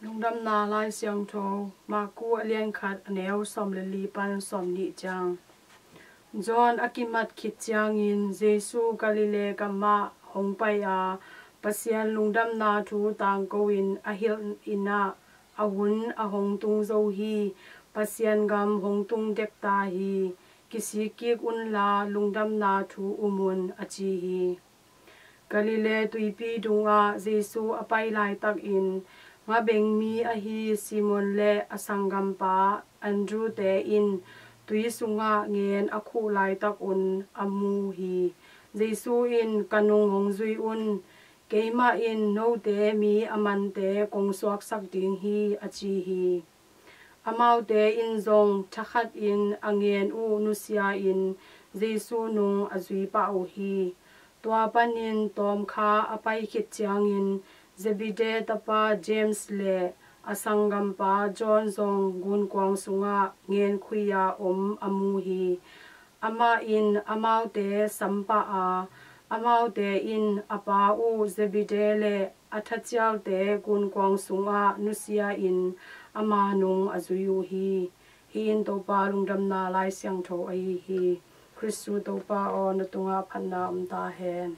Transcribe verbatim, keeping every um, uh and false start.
Lungdamna Lai Siangtho, Marku a lian khat, a neu sawm le li pan sawm nih ciang. John a kimat khit ciangin Jesu Galilee gamah hong pai a, Pasian lungdamna thu tangko in a hilh in ah, a hun a hong tung zo hi. Pasian gam hong tung dek ta hi. Kisik kik unla, lungdamna thu um un, a ci hi. Galilee tuipi dungah Jesu a pai laitakin, ngabengmi ahi Simon le a sanggampa Andrew-te in tui sungah ngen a khuh laitakun a mu hi. Jesu in, ka nung hong zui un. Keimah in note mi a mante kong suaksak ding hi, a ci hi. Amaute in zong thakhatin a ngen uh nusia-in Jesu nung a zui pah uh hi. Tua panin tawmkha a pai khit ciangin Zebedee tapa James le a sanggampa John zong gunkuang sungah ngenkhui-a om a mu hi. Amah in amaute sam pah a, amaute in a pa uh Zebedee le a thacialte gunkuang sungah nusia-in ama nung a zui uh hi. Hih in Topa lungdamna Lai Siangtho ahi hi. Khristu Topa aw, na tungah phatna om ta hen.